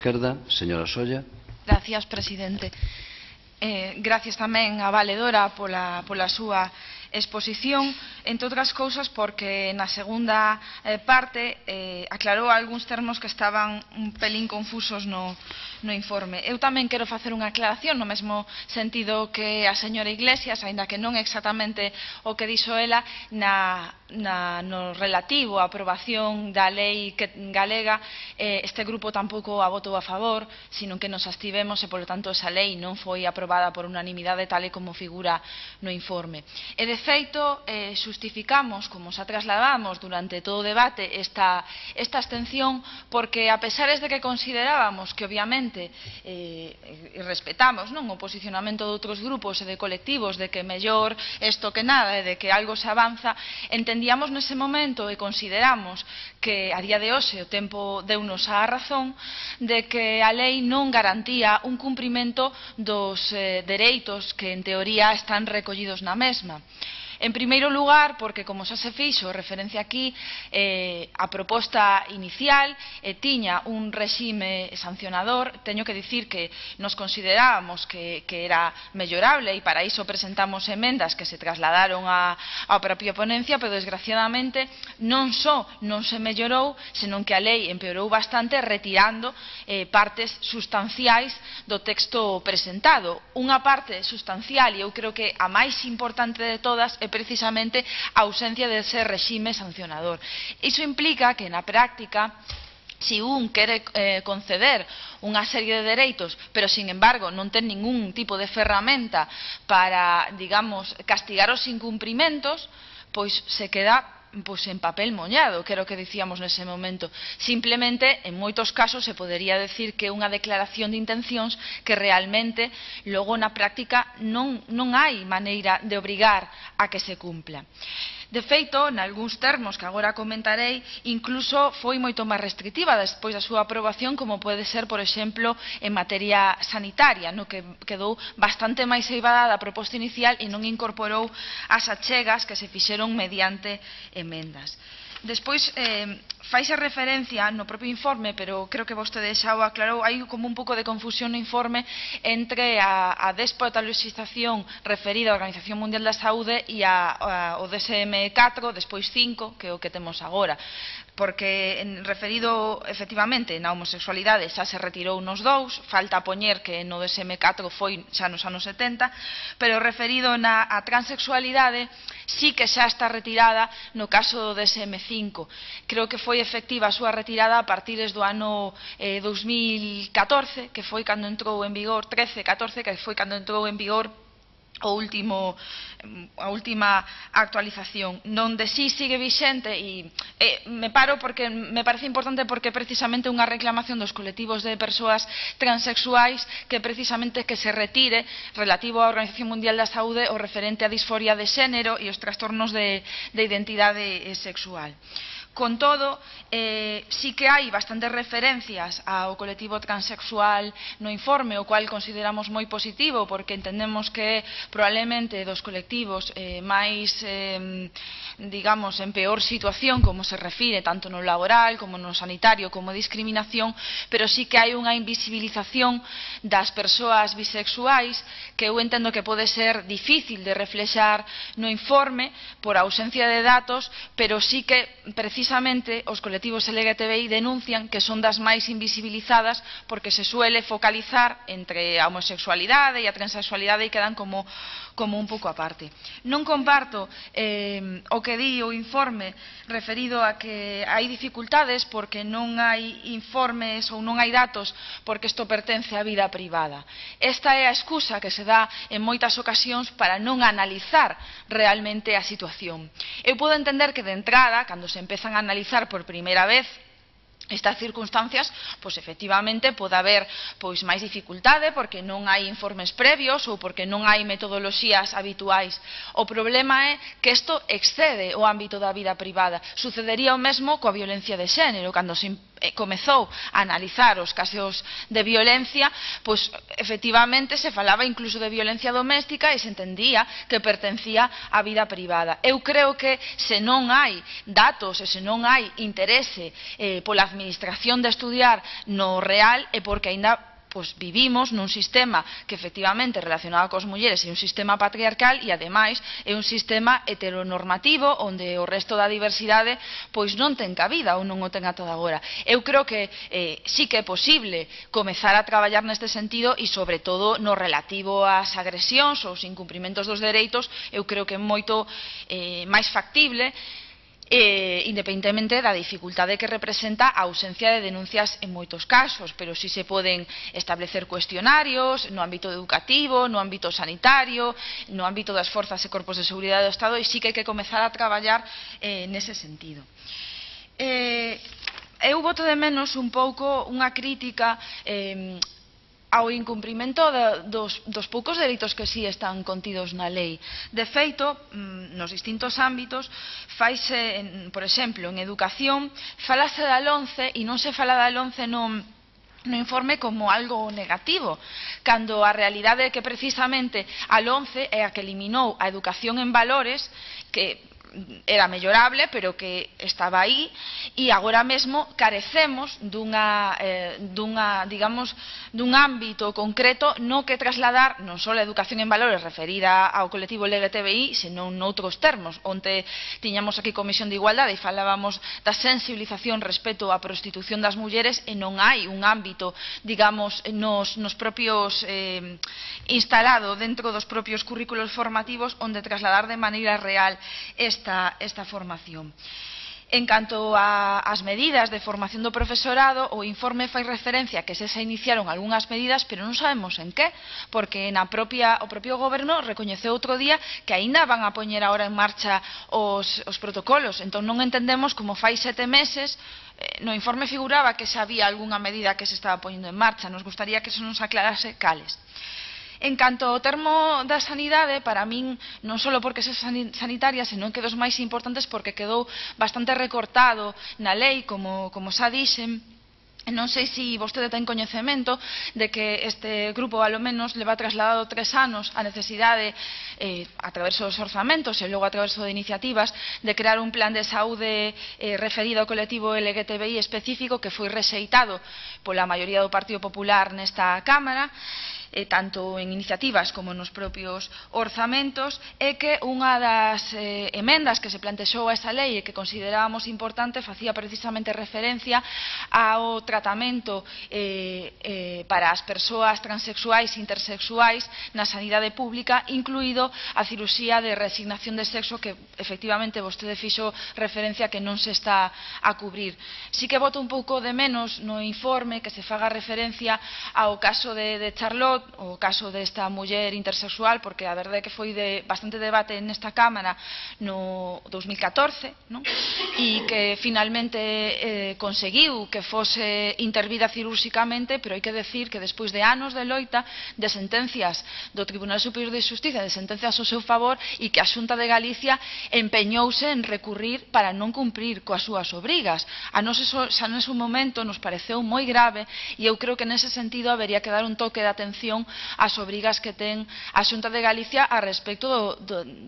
esquerda, señora Solla. Gracias, presidente. Gracias tamén a valedora pola súa exposición, entre outras cousas porque na segunda parte aclarou algúns termos que estaban un pelín confusos no informe. Eu tamén quero facer unha aclaración no mesmo sentido que a señora Iglesias, aínda que non exactamente o que dixo ela no relativo á aprobación da lei galega. Este grupo tampouco a votou a favor, sino que nos abstivemos e, polo tanto, esa lei non foi aprobada por unanimidade tal e como figura no informe. E, de feito, xustificamos, como xa trasladamos durante todo o debate, esta abstención porque, a pesares de que considerábamos que, obviamente, respetamos o posicionamento de outros grupos e de colectivos de que mellor isto que nada e de que algo se avanza, entendíamos nese momento e consideramos que a día de hoxe o tempo deunos a razón de que a lei non garantía un cumprimento dos dereitos que en teoría están recollidos na mesma. En primeiro lugar, porque, como xa se fixo referencia aquí, a proposta inicial tiña un réxime sancionador. Teño que dicir que nos considerábamos que era mellorable e para iso presentamos emendas que se trasladaron á propia ponencia, pero desgraciadamente non só non se mellorou, senón que a lei empeorou bastante retirando partes sustanciais do texto presentado. Unha parte sustancial, e eu creo que a máis importante de todas, é precisamente a ausencia dese réxime sancionador. Iso implica que na práctica, se un quere conceder unha serie de dereitos, pero, sin embargo, non ten ningún tipo de ferramenta para, digamos, castigar os incumprimentos, pois se queda en papel mollado, que era o que dicíamos nese momento. Simplemente, en moitos casos, se podería decir que é unha declaración de intencións que realmente logo na práctica non hai maneira de obrigar a que se cumpla. De feito, nalgúns termos que agora comentarei, incluso foi moito máis restrictiva despois da súa aprobación, como pode ser, por exemplo, en materia sanitaria, no que quedou bastante máis eivada da proposta inicial e non incorporou as achegas que se fixeron mediante emendas. Despois, faise referencia no propio informe, pero creo que vostede xa o aclarou, hai como un pouco de confusión no informe entre a despotalxización referida á Organización Mundial da Saúde e o DSM-4, despois 5, que é o que temos agora. Porque, referido, efectivamente, na homosexualidade xa se retirou nos dous, falta poñer que no DSM-4 foi xa nos anos 70, pero referido na transexualidade sí que xa está retirada no caso do DSM-5. Creo que foi efectiva a súa retirada a partir do ano 2014, que foi cando entrou en vigor, 13-14, que foi cando entrou en vigor a última actualización, donde sí sigue vixente, e me paro porque me parece importante porque precisamente unha reclamación dos colectivos de persoas transexuais que precisamente que se retire relativo á Organización Mundial da Saúde o referente á disforia de xénero e os trastornos de identidade sexual. Con todo, sí que hai bastantes referencias ao colectivo transexual no informe, o cual consideramos moi positivo porque entendemos que probablemente dos colectivos máis, digamos, en peor situación, como se refire tanto no laboral como no sanitario como discriminación, pero sí que hai unha invisibilización das persoas bisexuais que eu entendo que pode ser difícil de reflexar no informe por ausencia de datos, pero sí que precisamente os colectivos LGTBI denuncian que son das máis invisibilizadas porque se suele focalizar entre a homosexualidade e a transexualidade e quedan como un pouco aparte. Non comparto o que di o informe referido a que hai dificultades porque non hai informes ou non hai datos porque isto pertence á vida privada. Esta é a excusa que se dá en moitas ocasións para non analizar realmente a situación. Eu podo entender que de entrada, cando se empezan a analizar por primeira vez estas circunstancias, pois efectivamente pode haber máis dificultade porque non hai informes previos ou porque non hai metodoloxías habituais. O problema é que isto excede o ámbito da vida privada. Sucedería o mesmo coa violencia de xénero, cando se comezou a analizar os casos de violencia, pois efectivamente se falaba incluso de violencia doméstica e se entendía que pertencía á vida privada. Eu creo que se non hai datos e se non hai interese pola administración de estudiar no real é porque aínda vivimos nun sistema que efectivamente relacionado cos mulleres é un sistema patriarcal e ademais é un sistema heteronormativo onde o resto da diversidade pois non ten cabida ou non o ten ata agora. Eu creo que sí que é posible comezar a traballar neste sentido e sobre todo no relativo ás agresións ou aos incumprimentos dos dereitos, eu creo que é moito máis factible independentemente da dificultade que representa a ausencia de denuncias en moitos casos, pero si se poden establecer cuestionarios no ámbito educativo, no ámbito sanitario, no ámbito das forzas e corpos de seguridade do Estado, e si que hai que comezar a traballar nese sentido. Eu boto de menos un pouco unha crítica ao incumprimento dos poucos dereitos que si están contidos na lei. De feito, nos distintos ámbitos, faise, por exemplo, en educación, falase da LOMCE e non se fala da LOMCE no informe como algo negativo, cando a realidade é que precisamente a LOMCE é a que eliminou a educación en valores, que era mellorable, pero que estaba aí, e agora mesmo carecemos dun ámbito concreto no que trasladar non só a educación en valores referida ao colectivo LGTBI, senón noutros termos, onde tiñamos aquí Comisión de Igualdade e falábamos da sensibilización respecto á prostitución das mulleres e non hai un ámbito, digamos, nos propios instalado dentro dos propios currículos formativos onde trasladar de maneira real esta formación. En canto ás medidas de formación do profesorado, o informe fai referencia que se iniciaron algunhas medidas, pero non sabemos en que, porque o propio goberno recoñeceu outro día que aínda van a poñer agora en marcha os protocolos. Entón non entendemos como fai 7 meses no informe figuraba que se había algunha medida que se estaba poñendo en marcha. Nos gustaría que se nos aclarase cales. En canto ao termo da sanidade, para min, non só porque é sanitaria, senón que dos máis importantes porque quedou bastante recortado na lei, como xa dixen. Non sei se vostede ten coñecemento de que este grupo, alo menos, leva trasladado 3 anos a necesidade, a través dos orzamentos e logo a través de iniciativas, de crear un plan de saúde referido ao colectivo LGTBI específico que foi rexeitado pola maioría do Partido Popular nesta Cámara, tanto en iniciativas como nos propios orzamentos, é que unha das emendas que se plantexou a esa lei e que considerábamos importante facía precisamente referencia ao tratamento para as persoas transexuais e intersexuais na sanidade pública, incluído a cirurxía de reasignación de sexo, que efectivamente vostede fixo referencia que non se está a cubrir. Si que boto un pouco de menos no informe que se faga referencia ao caso de Charlotte, o caso desta muller intersexual, porque a verdade é que foi de bastante debate nesta Cámara no 2014, e que finalmente conseguiu que fose intervida cirúrxicamente, pero hai que decir que despois de anos de loita, de sentencias do Tribunal Superior de Xustiza, de sentencias ao seu favor, e que a Xunta de Galicia empeñouse en recurrir para non cumprir coas súas obrigas. A nós xa nese momento nos pareceu moi grave e eu creo que nese sentido habería que dar un toque de atención ás obrigas que ten a Xunta de Galicia a respecto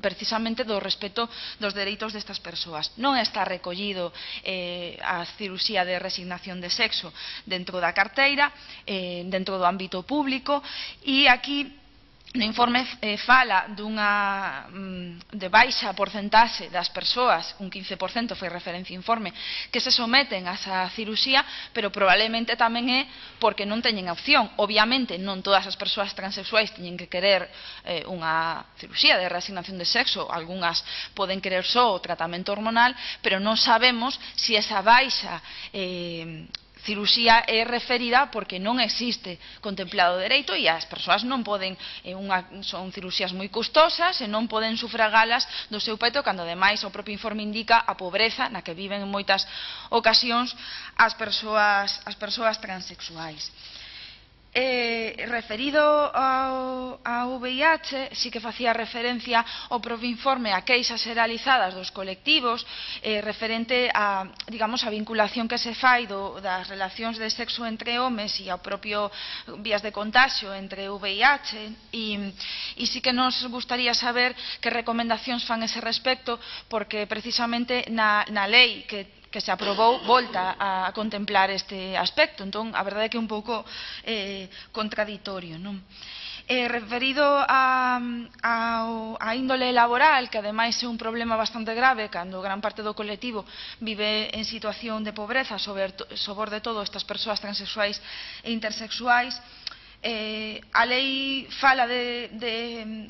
precisamente do respeto dos dereitos destas persoas. Non está recollido a cirurxía de resignación de sexo dentro da carteira, dentro do ámbito público, e aquí no informe fala de baixa porcentaxe das persoas, un 15% foi referencia informe, que se someten a esa cirurxía, pero probablemente tamén é porque non teñen opción. Obviamente non todas as persoas transexuais teñen que querer unha cirurxía de reasignación de sexo, algunhas poden querer só o tratamento hormonal, pero non sabemos se esa baixa cirurxía é referida porque non existe contemplado dereito e as persoas non poden, son cirurxías moi custosas e non poden sufragalas do seu peito, cando ademais o propio informe indica a pobreza na que viven en moitas ocasións as persoas transexuais. Referido ao VIH, sí que facía referencia ao propio informe a queixas xeralizadas dos colectivos referente a, digamos, a vinculación que se fai das relacións de sexo entre homes e ao propio vías de contagio entre VIH, e sí que nos gustaría saber que recomendacións fan ese respecto, porque precisamente na lei que se aprobou volta a contemplar este aspecto. Entón, a verdade é que é un pouco contraditorio, non? Referido á índole laboral, que ademais é un problema bastante grave cando gran parte do colectivo vive en situación de pobreza, sobre todo estas persoas transexuais e intersexuais, a lei fala de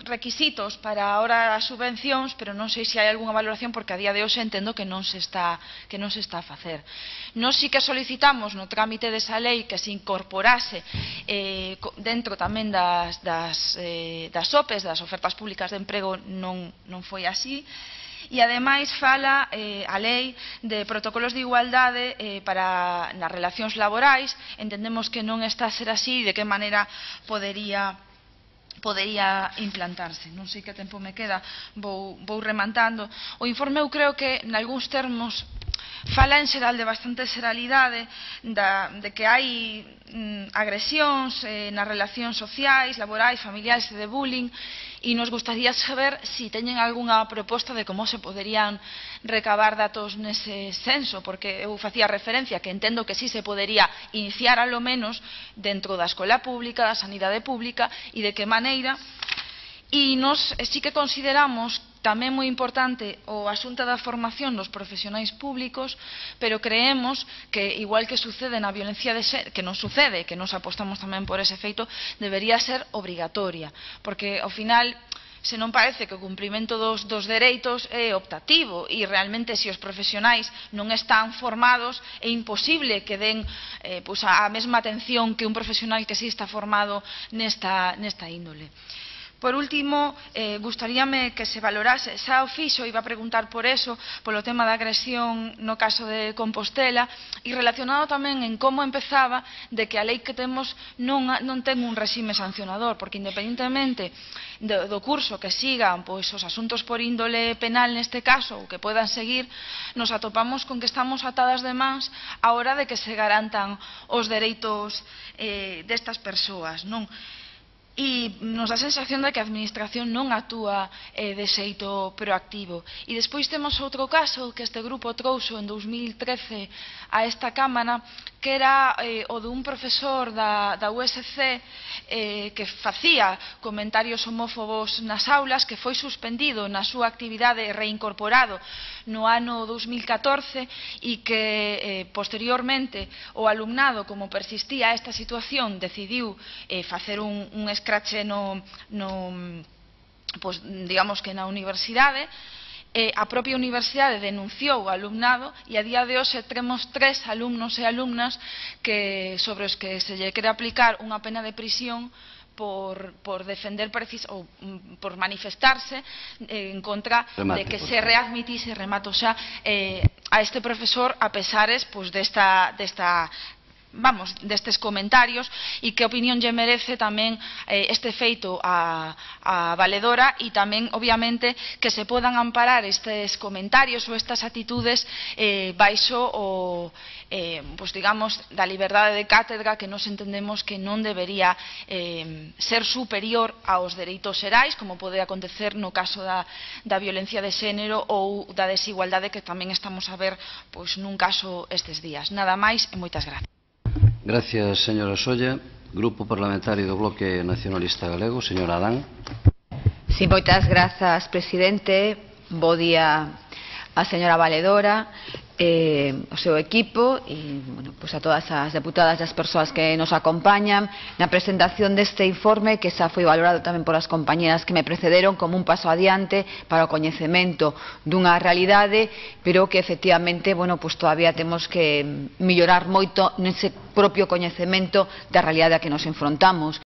requisitos para a hora das subvencións, pero non sei se hai algunha valoración, porque a día de hoxe entendo que non se está a facer. Nós sí que solicitamos no trámite desa lei que se incorporase dentro tamén das OPEs, das ofertas públicas de emprego, non foi así. E, ademais, fala a lei de protocolos de igualdade nas relacións laborais. Entendemos que non está a ser así, e de que maneira podería implantarse. Non sei que tempo me queda, vou rematando. O informe, eu creo que, nalgúns termos, fala en xeral de bastante xeralidade de que hai agresións nas relacións sociais, laborais, familiares e de bullying, e nos gustaría saber se teñen algunha proposta de como se poderían recabar datos nese senso, porque eu facía referencia que entendo que sí se podería iniciar alo menos dentro da escola pública, da sanidade pública, e de que maneira. E nós sí que consideramos tamén moi importante o asunto da formación dos profesionais públicos, pero creemos que, igual que sucede na violencia de xénero, que non sucede, que nos apostamos tamén por ese feito, debería ser obrigatoria, porque ao final se non parece que o cumprimento dos dereitos é optativo, e realmente se os profesionais non están formados é imposible que den a mesma atención que un profesional que sí está formado nesta índole. Por último, gustaríame que se valorase, xa o fixo, iba a preguntar por eso, polo tema da agresión no caso de Compostela, e relacionado tamén en como empezaba de que a lei que temos non ten un réxime sancionador, porque independentemente do curso que sigan os asuntos por índole penal neste caso, ou que podan seguir, nos atopamos con que estamos atadas de mans á hora de que se garantan os dereitos destas persoas, non? E nos dá a sensación de que a administración non actúa de xeito proactivo. E despois temos outro caso que este grupo trouxo en 2013 a esta Cámara, que era o dun profesor da USC que facía comentarios homófobos nas aulas, que foi suspendido na súa actividade e reincorporado no ano 2014, e que posteriormente o alumnado, como persistía esta situación, decidiu facer un escrache digamos que na universidade. A propia universidade denunciou o alumnado, e a día de hoxe temos 3 alumnos e alumnas sobre os que se lle quere aplicar unha pena de prisión por defender ou por manifestarse en contra de que se readmitise, remato xa, a este profesor, a pesares destes comentarios, e que opinión lle merece tamén este feito a valedora, e tamén, obviamente, que se podan amparar estes comentarios ou estas actitudes baixo digamos, da liberdade de cátedra, que nos entendemos que non debería ser superior aos dereitos xerais, como pode acontecer no caso da violencia de xénero ou da desigualdade que tamén estamos a ver nun caso estes días. Nada máis e moitas gracias. Gracias, señora Solla. Grupo Parlamentario do Bloque Nacionalista Galego, señora Adán. Sí, moitas grazas, presidente. Bo día a señora valedora, o seu equipo e a todas as deputadas e as persoas que nos acompañan na presentación deste informe, que xa foi valorado tamén polas compañeras que me precederon como un paso adiante para o coñecemento dunha realidade, pero que efectivamente todavía temos que mellorar moito nese propio coñecemento da realidade a que nos enfrontamos.